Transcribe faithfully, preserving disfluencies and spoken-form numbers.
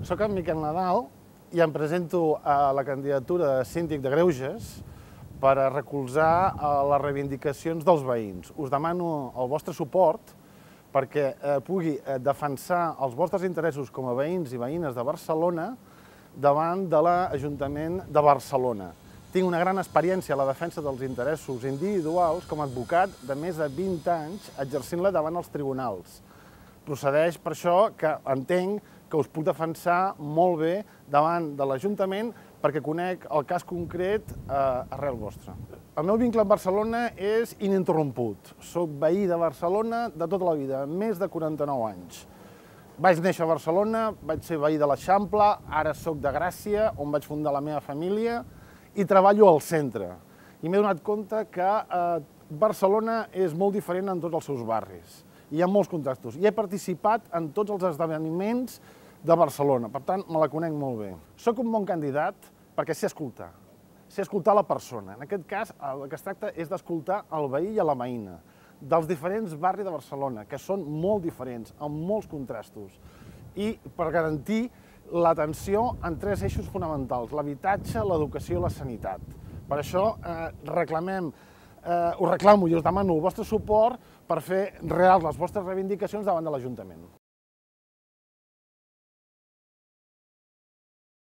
Soc en Miquel Nadal i em presento a la candidatura de síndic de Greuges per a recolzar les reivindicacions dels veïns. Us demano el vostre suport perquè pugui defensar els vostres interessos com a veïns i veïnes de Barcelona davant de l'Ajuntament de Barcelona. Tinc una gran experiència a la defensa dels interessos individuals com a advocat de més de vint anys exercint-la davant els tribunals. Procedeix per això que entenc que us puc defensar molt bé davant de l'Ajuntament perquè conec el cas concret arrel vostre. El meu vincle amb Barcelona és ininterromput. Soc veí de Barcelona de tota la vida, més de quaranta-nou anys. Vaig néixer a Barcelona, vaig ser veí de l'Eixample, ara soc de Gràcia, on vaig fundar la meva família, i treballo al centre. I m'he donat compte que Barcelona és molt diferent en tots els seus barris. Hi ha molts contrastos. I he participat en tots els esdeveniments de Barcelona, per tant, me la conec molt bé. Soc un bon candidat perquè sé escoltar, sé escoltar la persona. En aquest cas, el que es tracta és d'escoltar el veí i la veïna dels diferents barris de Barcelona, que són molt diferents, amb molts contrastos, i per garantir l'atenció en tres eixos fonamentals: l'habitatge, l'educació i la sanitat. Per això reclamem, us reclamo i us demano el vostre suport per fer reals les vostres reivindicacions davant de l'Ajuntament.